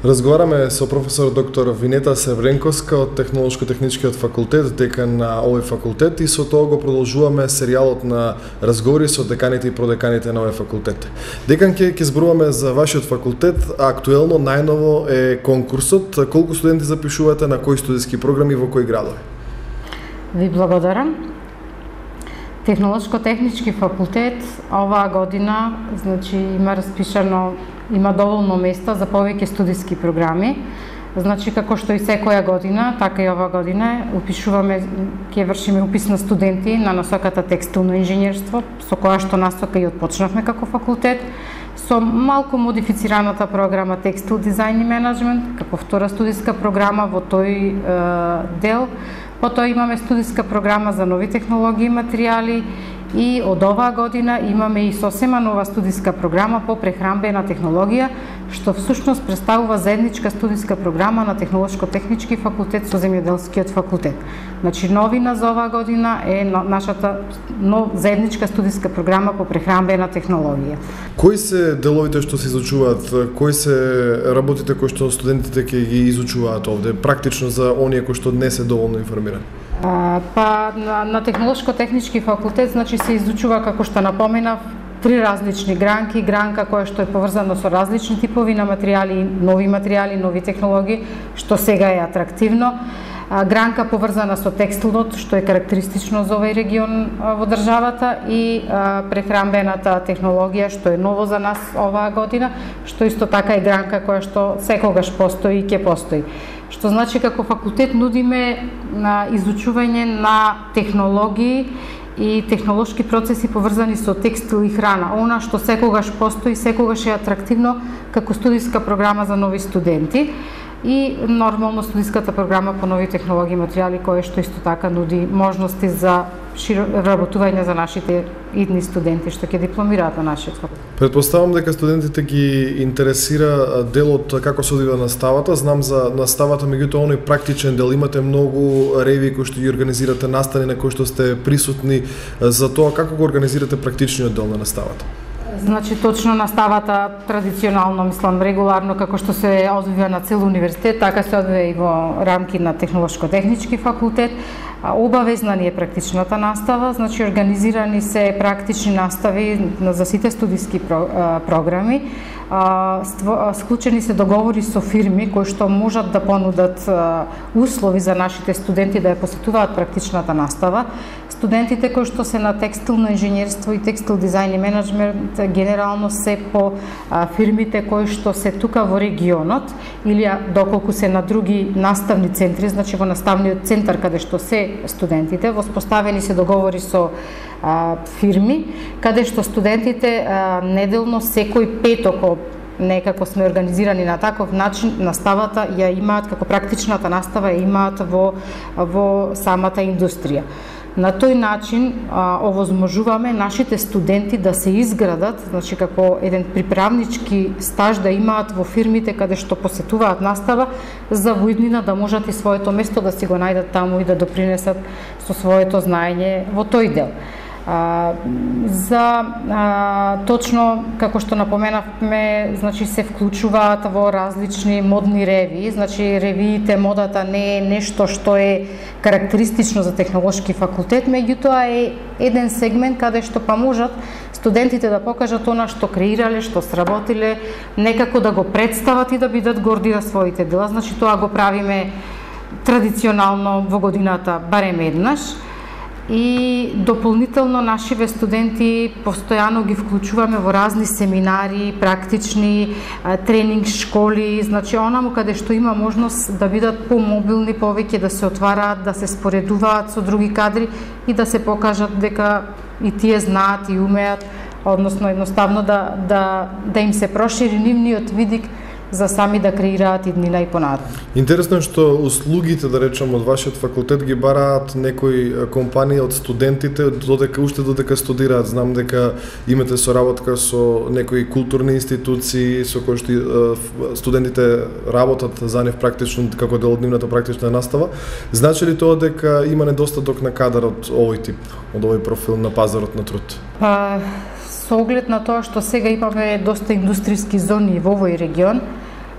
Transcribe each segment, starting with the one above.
Разговараме со професор доктор Винета Севренковска од Технолошко-техничкиот факултет, декан на овој факултет, и со тоа го продолжуваме серијалот на разговори со деканите и продеканите на овој факултет. Декан, ќе зборуваме за вашиот факултет, а актуелно најново е конкурсот. Колку студенти запишувате, на кои студиски програми, во кои градови? Ви благодарам. Технолошко-технички факултет оваа година, значи, има доволно места за повеќе студиски програми. Значи, како што и секоја година, така и оваа година ќе вршиме упис на студенти на насоката текстилно инженерство, со која што насока и отпочнавме како факултет, со малку модифицираната програма текстил дизајн и менеджмент, како втора студиска програма во тој дел. Потоа имаме студиска програма за нови технологии и материјали, и од оваа година имаме и сосема нова студиска програма по прехранбена технологија, што всушност представува заедничка студиска програма на Технолошко-технички факултет со Земјоделскиот факултет. Значи, новина за оваа година е нашата заедничка студиска програма по прехранбена технологија. Кои се деловите што се изучуваат? Кои се работите кои што студентите ќе ги изучуваат овде, практично за оние кои што не се доволно информирани? На Технолошко-технички факултет, значи, се изучува, како што напоменав, три различни гранки. Гранка која што е поврзана со различни типови на материјали, нови технологии, што сега е атрактивно. Гранка поврзана со текстилот, што е карактеристично за овој регион во државата, и прехранбената технологија, што е ново за нас оваа година, што исто така е гранка која што секогаш постои и ќе постои. Што значи, како факултет нудиме на изучување на технологии и технолошки процеси поврзани со текстил и храна. Она што секогаш постои, секогаш е атрактивно како студиска програма за нови студенти, и нормално студиската програма по нови технологии и материјали, која што исто така нуди можности за вработување за нашите идни студенти што ќе дипломираат на нашиот факултет. Претпоставам дека студентите ги интересира делот како се одвива наставата. Знам за наставата, меѓутоа оној практичен дел, имате многу реви кои што ги организирате, настани на кои што сте присутни. За тоа како го организирате практичниот дел на наставата? Значи, точно наставата традиционално, регуларно, како што се одвива на цел универзитет, така се одвива и во рамки на Технолошко-технички факултет. Обавезна ни е практичната настава, значи организирани се практични настави за сите студиски програми. Склучени се договори со фирми кои што можат да понудат услови за нашите студенти да ја посетуваат практичната настава. Студентите кои што се на текстилно инженерство и текстил дизајн и менеджмент генерално се по фирмите кои што се тука во регионот, или доколку се на други наставни центри, значи во наставниот центар каде што се студентите, воспоставени се договори со фирми, каде што студентите неделно секој петок, некако сме организирани на таков начин, наставата ја имаат, како практичната настава ја имаат во самата индустрија. На тој начин овозможуваме нашите студенти да се изградат, значи како еден приправнички стаж да имаат во фирмите каде што посетуваат настава, за во иднина да можат и своето место да си го најдат таму и да допринесат со своето знаење во тој дел. Точно како што напоменавме, значи се вклучуваат во различни модни реви, значи ревиите, модата не е нешто што е карактеристично за Технолошки факултет, меѓутоа е еден сегмент каде што можат студентите да покажат она што креирале, што сработиле, некако да го представат и да бидат горди на своите дела. Значи, тоа го правиме традиционално во годината барем еднаш. И дополнително нашиве студенти постојано ги вклучуваме во разни семинари, практични тренинг школи, значи онаму каде што има можност да бидат помобилни повеќе, да се отвараат, да се споредуваат со други кадри и да се покажат дека и тие знаат и умеат, односно едноставно да им се прошири нивниот видик за сами да креираат иднина и понатаму. Интересно е што услугите, да речем, од вашиот факултет ги бараат некои компании од студентите додека студираат. Знам дека имате соработка со некои културни институции со кои што студентите работат за нив практично како дел од нивната практична настава. Значи ли тоа дека има недостаток на кадар од овој тип, од овој профил на пазарот на труд? Со оглед на тоа што сега имаме доста индустријски зони во овој регион,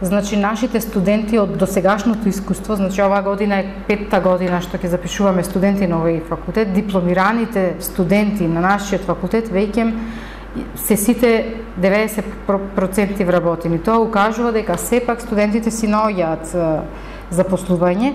Значи, нашите студенти од досегашното искуство, значи оваа година е 5-та година што ќе запишуваме студенти на овој факултет, дипломираните студенти на нашиот факултет веќе се сите 90% вработени. Тоа укажува дека сепак студентите си наоѓаат запослување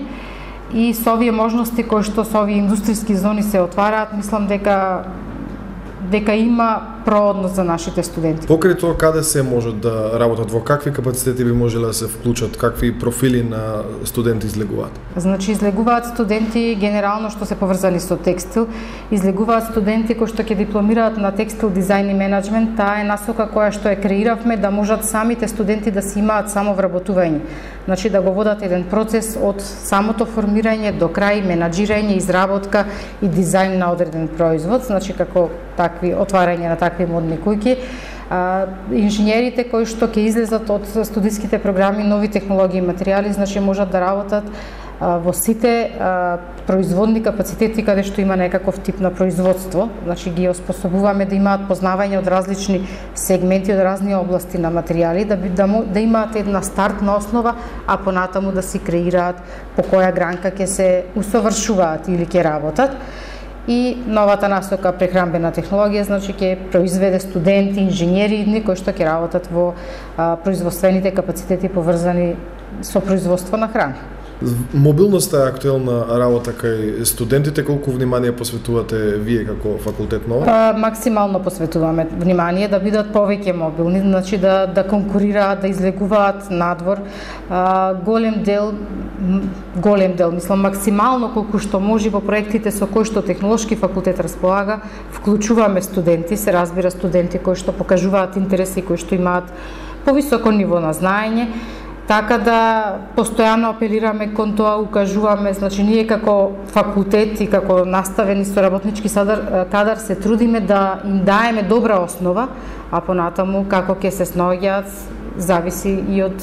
и со овие можности кои што со овие индустријски зони се отвараат, мислам дека има проодност за нашите студенти. Покрај тоа, каде се можат да работат, во какви капацитети би можеле да се вклучат, какви профили на студенти излегуваат? Значи, излегуваат студенти генерално што се поврзани со текстил, излегуваат студенти кои што ќе дипломираат на текстил дизајн и менеджмент. Таа е насока која што ја креиравме да можат самите студенти да си имаат самовработување. Значи, да го водат еден процес од самото формирање до крај, менаџирање, изработка и дизајн на одреден производ, значи како такви отварање на такви модни куќи. Инженерите кои што ќе излезат од студиските програми нови технологии и материјали, значи можат да работат во сите производни капацитети каде што има некаков тип на производство. Значи ги оспособуваме да имаат познавање од различни сегменти, од разни области на материјали, да имаат една стартна основа, а понатаму да си креираат по која гранка ќе се усовршуваат или ќе работат. И новата насока прехранбена технологија, значи ќе произведе студенти, инженери кои што ќе работат во производствените капацитети поврзани со производство на храна. Мобилноста е актуелна работа кај студентите, колку внимание посветувате вие како факултет на ова? Максимално посветуваме внимание да бидат повеќе мобилни, значи да конкурираат, да излегуваат надвор. Голем дел, мислам, максимално колку што може во проектите со кои што Технолошки факултет располага, вклучуваме студенти, се разбира студенти кои што покажуваат интереси, кои што имаат повисоко ниво на знаење. Така да постојано апелираме кон тоа, укажуваме, значи ние како факултет и како наставени со работнички кадар се трудиме да им даеме добра основа, а понатаму како ќе се снаоѓаат зависи и од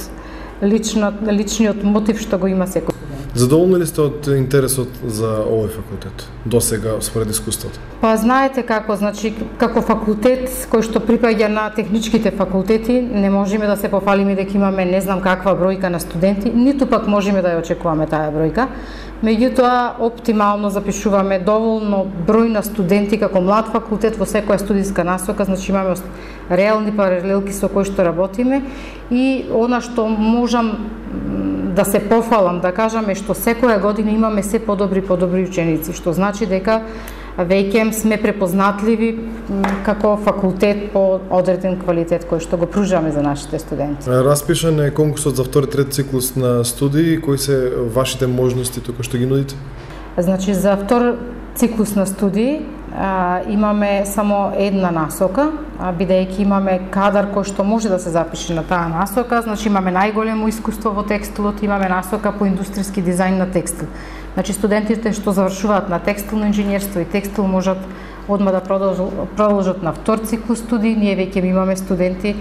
личниот мотив што го има секој. Задоволни ли сте од интересот за овој факултет досега според искуството? Па знаете како, значи како факултет кој што припаѓа на техничките факултети, не можеме да се пофалиме дека имаме не знам каква бројка на студенти, ниту пак можеме да ја очекуваме таа бројка. Меѓутоа, оптимално запишуваме доволно број на студенти како млад факултет во секоја студиска насока, значи имаме реални паралелки со кои што работиме и она што можам да се пофалам, да кажам, е што секоја година имаме се подобри ученици, што значи дека веќе сме препознатливи како факултет по одреден квалитет кој што го пружаме за нашите студенти. Распишан е конкурсот за втори трет циклус на студии, кои се вашите можности тука што ги нудите? Значи за втор циклус на студии имаме само една насока, бидејќи имаме кадар кој што може да се запише на таа насока, значи имаме најголемо искуство во текстилот, имаме насока по индустријски дизајн на текстил. Значи студентите што завршуваат на текстилно инженерство и текстил можат одма да продолжат на втор циклус студии. Ние веќе имаме студенти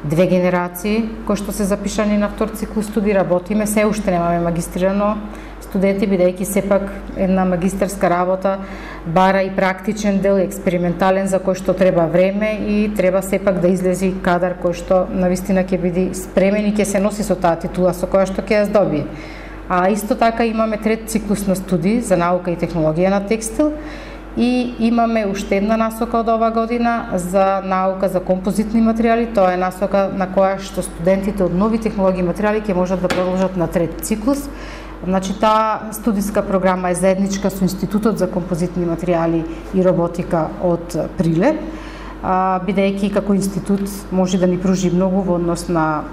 2 генерации кои што се запишани на втор циклус студии, работиме, се уште немаме магистрирано студенти, бидејќи сепак една магистерска работа бара и практичен дел, експериментален, за кој што треба време и треба сепак да излези кадар кој што навистина ќе биде спремен и ќе се носи со таа титула со која што ќе ја здобие. А исто така имаме трет циклус на студии за наука и технологија на текстил и имаме уште една насока од оваа година за наука за композитни материјали. Тоа е насока на која што студентите од нови технологии и материјали ќе можат да продолжат на трет циклус. Значи, таа студиска програма е заедничка со Институтот за композитни материјали и роботика од Прилеп, бидејќи како институт може да ни пружи многу во однос на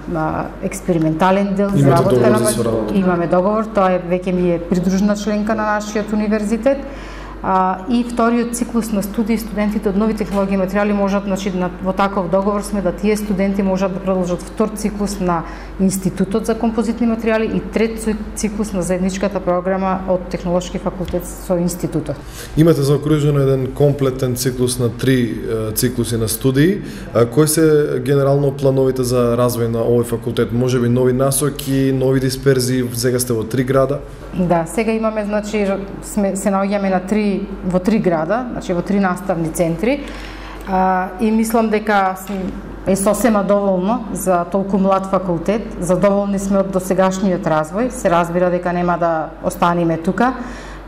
експериментален дел за работа на имаме договор, тоа е веќе ми е придружна членка на нашиот универзитет. И вториот циклус на студии, студентите од нови технологии и материјали можат, значи во таков договор сме да тие студенти можат да продолжат втор циклус на Институтот за композитни материјали и трет циклус на заедничката програма од Технолошки факултет со институтот. Имате заокружено еден комплетен циклус на 3 циклуси на студии. Кои се генерално плановите за развој на овој факултет? Можеби нови насоки, нови дисперзии, сега сте во 3 града? Да, сега имаме, значи се наоѓаме на во 3 града, значи во 3 наставни центри. И мислам дека е сосема доволно за толку млад факултет, задоволни сме од досегашниот развој, се разбира дека нема да останеме тука,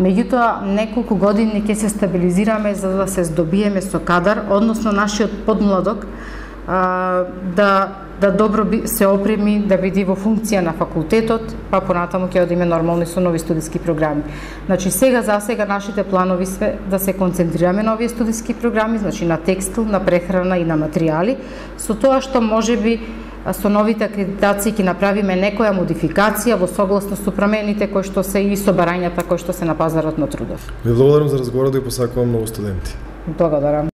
меѓутоа неколку години ќе се стабилизираме за да се здобиеме со кадар, односно нашиот подмладок да добро се опреми, да биде во функција на факултетот, па понатаму ќе одиме нормални со нови студиски програми. Значи за сега нашите планови се да се концентрираме на овие студиски програми, значи на текстил, на прехрана и на материјали, со тоа што можеби со новите акредитации ќе направиме некоја модификација во согласност со промените кои што се и со барањата кои што се на пазарот на трудов. Ви благодарам за разговорот и посакувам многу студенти. Благодарам.